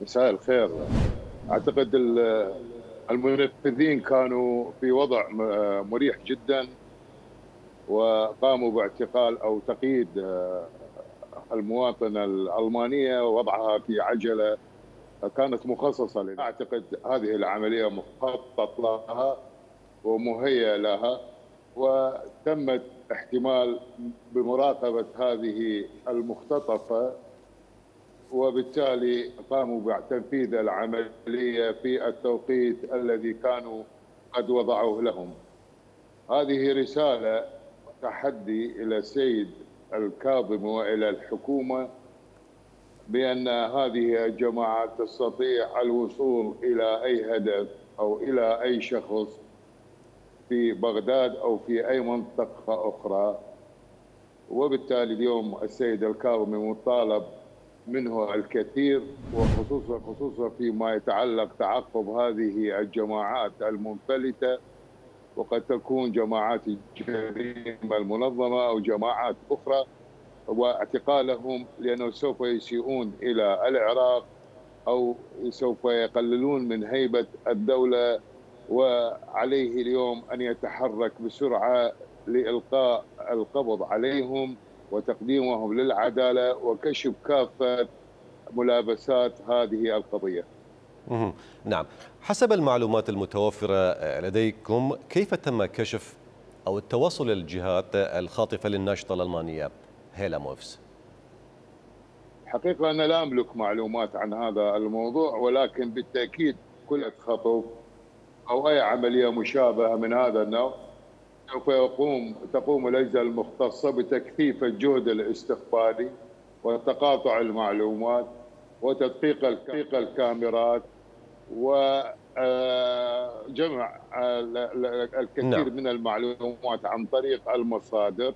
مساء الخير. أعتقد المنفذين كانوا في وضع مريح جدًا، وقاموا باعتقال أو تقييد المواطنة الألمانية ووضعها في عجلة كانت مخصصة لها. أعتقد هذه العملية مخطط لها ومهيأ لها، وتمت احتمال بمراقبة هذه المختطفة، وبالتالي قاموا بتنفيذ العملية في التوقيت الذي كانوا قد وضعوه لهم. هذه رسالة تحدي إلى السيد الكاظمي وإلى الحكومة بأن هذه الجماعات تستطيع الوصول إلى أي هدف أو إلى أي شخص في بغداد أو في أي منطقة أخرى. وبالتالي اليوم السيد الكاظمي مطالب منه الكثير، وخصوصا فيما يتعلق تعقب هذه الجماعات المنفلتة، وقد تكون جماعات الجريمة المنظمة أو جماعات أخرى، واعتقالهم لأنه سوف يسيئون إلى العراق أو سوف يقللون من هيبة الدولة. وعليه اليوم أن يتحرك بسرعة لإلقاء القبض عليهم وتقديمهم للعدالة وكشف كافة ملابسات هذه القضية. نعم، حسب المعلومات المتوفرة لديكم كيف تم كشف أو التوصل للجهات الخاطفة للناشطة الألمانية هيلا موفز؟ حقيقة أنا لا أملك معلومات عن هذا الموضوع، ولكن بالتأكيد كل خطف أو أي عملية مشابهة من هذا النوع سوف تقوم الأجهزة المختصة بتكثيف الجهد الاستخباري وتقاطع المعلومات وتدقيق الكاميرات وجمع الكثير من المعلومات عن طريق المصادر.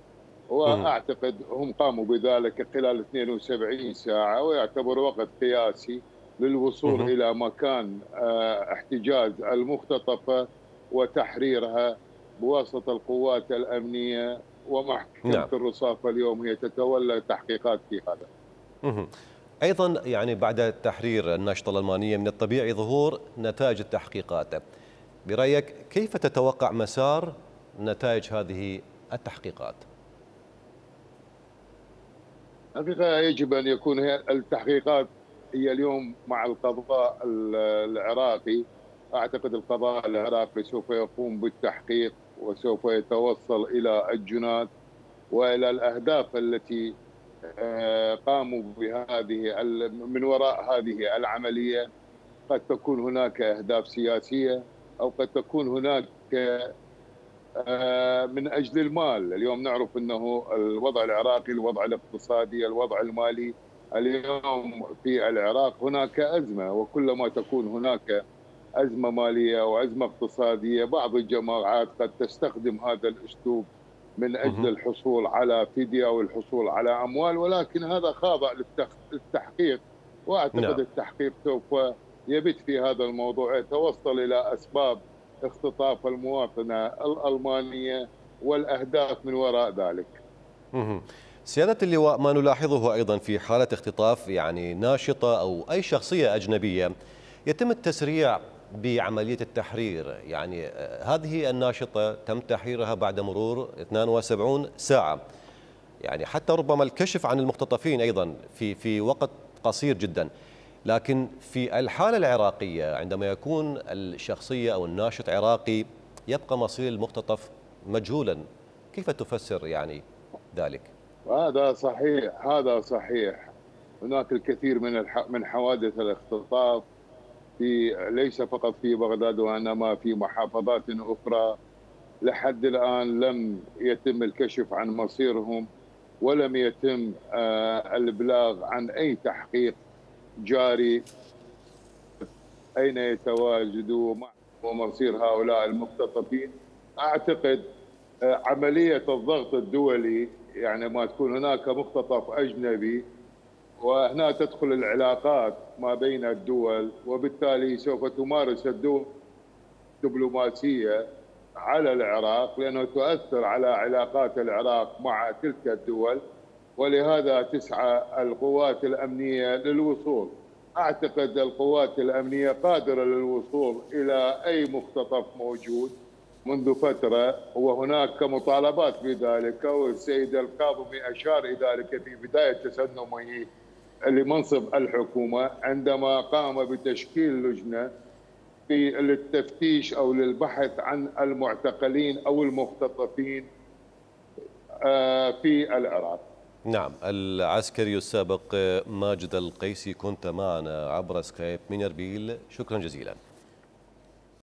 وأعتقد هم قاموا بذلك خلال 72 ساعة، ويعتبر وقت قياسي للوصول إلى مكان احتجاز المختطفة وتحريرها بواسطة القوات الأمنية. ومحكمة الرصافة اليوم هي تتولى التحقيقات في هذا. أيضا يعني بعد تحرير الناشطة الألمانية من الطبيعي ظهور نتائج التحقيقات. برأيك كيف تتوقع مسار نتائج هذه التحقيقات؟ حقيقة يجب أن يكون التحقيقات هي اليوم مع القضاء العراقي. أعتقد القضاء العراقي سوف يقوم بالتحقيق وسوف يتوصل إلى الجنات وإلى الأهداف التي قاموا بهذه من وراء هذه العملية. قد تكون هناك أهداف سياسية أو قد تكون هناك من أجل المال. اليوم نعرف أنه الوضع العراقي، الوضع الاقتصادي، الوضع المالي اليوم في العراق هناك أزمة، وكلما تكون هناك أزمة مالية وأزمة اقتصادية بعض الجماعات قد تستخدم هذا الأسلوب من أجل الحصول على فدية أو الحصول على أموال، ولكن هذا خاضع للتحقيق. وأعتقد التحقيق سوف يبت في هذا الموضوع، يتوصل إلى أسباب اختطاف المواطنة الألمانية والأهداف من وراء ذلك. سيادة اللواء، ما نلاحظه أيضا في حالة اختطاف يعني ناشطة أو أي شخصية أجنبية يتم التسريع بعملية التحرير. يعني هذه الناشطة تم تحريرها بعد مرور 72 ساعة، يعني حتى ربما الكشف عن المختطفين أيضا في وقت قصير جدا. لكن في الحالة العراقية عندما يكون الشخصية أو الناشط عراقي يبقى مصير المختطف مجهولا، كيف تفسر يعني ذلك؟ هذا صحيح، هذا صحيح. هناك الكثير من حوادث الاختطاف ليس فقط في بغداد وإنما في محافظات أخرى. لحد الآن لم يتم الكشف عن مصيرهم، ولم يتم الإبلاغ عن أي تحقيق جاري أين يتواجدوا ومصير هؤلاء المختطفين. أعتقد عملية الضغط الدولي، يعني ما تكون هناك مختطف أجنبي وهنا تدخل العلاقات ما بين الدول، وبالتالي سوف تمارس الدول دبلوماسية على العراق لأنه تؤثر على علاقات العراق مع تلك الدول. ولهذا تسعى القوات الأمنية للوصول اعتقد القوات الامنيه قادره للوصول الى اي مختطف موجود منذ فتره، وهناك مطالبات بذلك، والسيد الكاظمي اشار الى ذلك في بدايه تسنمه لمنصب الحكومه عندما قام بتشكيل لجنه للتفتيش او للبحث عن المعتقلين او المختطفين في العراق. نعم، العسكري السابق ماجد القيسي كنت معنا عبر سكايب من اربيل، شكرا جزيلا.